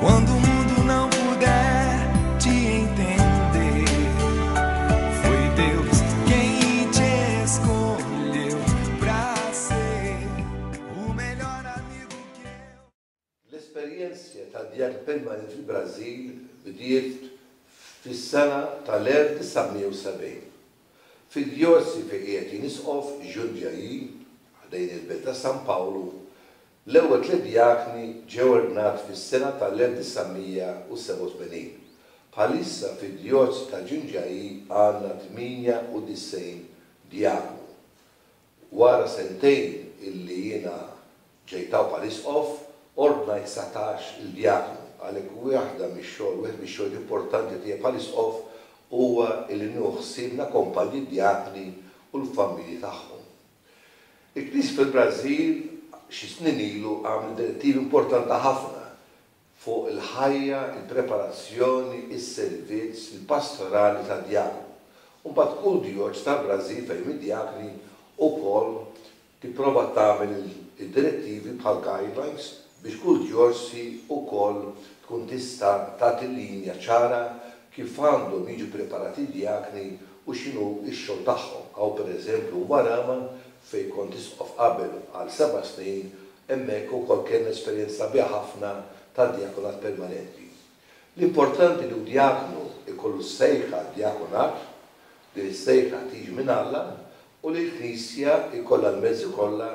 Quando o mundo não puder te entender, foi Deus quem te escolheu pra ser o melhor amigo que eu. L-esperjenza tad-djakn permanenti fil-Brażil bdiet fis-sena tal-1970. Fid-djoċesi fejn qiegħed jien isqof, Jundiaí, ħdejn il-belt ta' San Pawlu, l-ewwel tlett djakni ġew ordnati fis-sena tal-1987. Bħalissa fid-djoċesi ta' Jundiaí għandna 98 djaknu. Wara sentejn illi jiena ġejt hawn bħala Isqof, ordnajt 19 il-djaknu. Għalhekk waħda mix-xogħol, wieħed mix-xogħlijiet importanti tiegħi bħala Isqof huwa illi nieħu ħsieb nakkompanja d-djakni u l-familji tagħhom. Il-Knisja fil-Brażil xi snin ilu għamlet direttiva importanti ħafna fuq il-ħajja, il-preparazzjoni, is-servizz, il-pastorali tad-djaknu. U mbagħad kull djoċ tal-Brażil fejn hemm id-djakni ukoll tipprova tagħmel id-direttivi bħal guidelines biex kull djoċsi ukoll tkun tista' tagħti linja ċara kif għandhom jiġu preparati d-djakni u x'inhu x-xogħol tagħhom. Hawn pereżempju Umuarama fejn kont isqof qabel għal seba' snin Hemmhekk ukoll kellna esperjenza sabiħa ħafna tad-djakonat permanenti. L-importanti li djaknu jkollu s-sejħa għad-djakonat, din is-sejħa tiġi minn Alla, u li l-Knisja jkollha l-mezzi kollha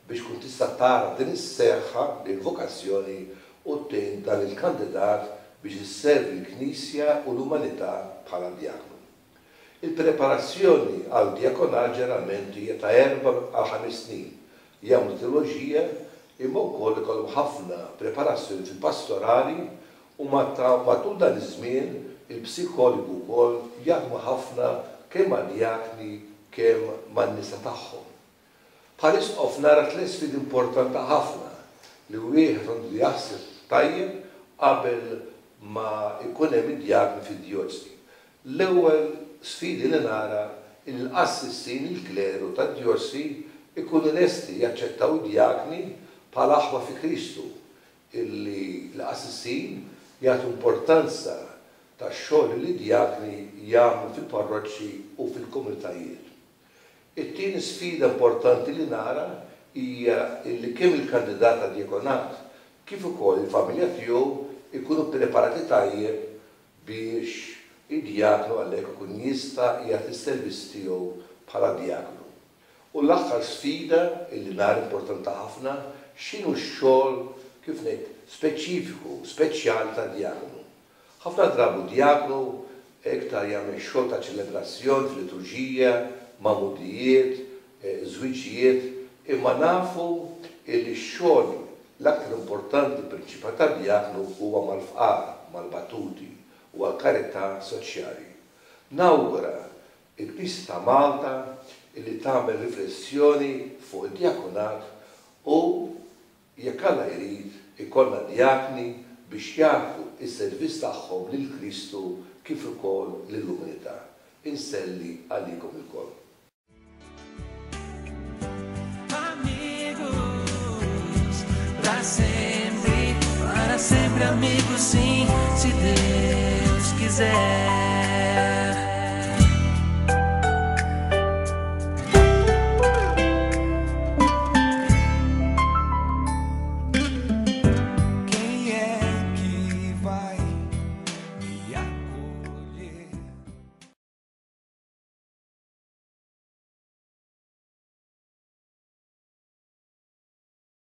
biex tkun tista' tagħraf din is-sejħa, din il-vokazzjoni u tgħin dan il-kandidat biex isservi l-Knisja u l-umanità bħala djaknu. Il-preparazzjoni għal djakonat ġeneralment hija ta' erba' għal ħames snin. Jagħmlu teoloġija imma wkoll ikollhom ħafna preparazzjoni fil-pastorali u matul dan iż-żmien il-psikologu wkoll jaħdmu ħafna kemm mad-djakni kemm man-nisa tagħhom. Bħal isqof nara tlett sfidi importanti ħafna li wieħed għandu jaħseb tajjeb qabel ma jkun hemm id-djakni fid-djoċsi. L-ewwel sfidi li nara hi li l-qassisin, il-kleru tad-djoċsi jkunu lesti jaċċettaw id-djakni bħala aħwa fi Kristu, illi l-qassisin jagħtu importanza tax-xogħol li d-djakni jagħmlu fil-parroċċi u fil-komunitajiet. It-tieni sfida importanti li nara hija illi kemm il-kandidat għad-djakonat kif ukoll il-familja tiegħu jkunu ppreparati tajjeb biex id-djaknu għalhekk ikun jista' jagħti s-servizz tiegħu bħala djaknu. U l-aħħar sfida illi nara importanti ħafna, x'inhu x-xogħol, kif ngħid, speċifiku, speċjali tad-djaknu. Ħafna drabi d-djaknu iktar jagħmel xogħol ta' ċelebrazzjoni fil-liturġija, magħmudijiet, żwiġijiet, imma nafu illi x-xogħol l-aktar importanti prinċipali tad-djaknu huwa mal-fqar, mal-batuti u għall-karità soċjali. Nawgura il-Knisja ta' Malta illi tagħmel riflessjoni fuq id-djakonat u Jekk Alla jrid, ikollna djakni biex jagħtu s-servizz tagħhom lil Kristu kif ukoll lill-umanità. Inselli għalikom ilkoll. Amigos pra sempre, para sempre amigos sim, se Deus quiser.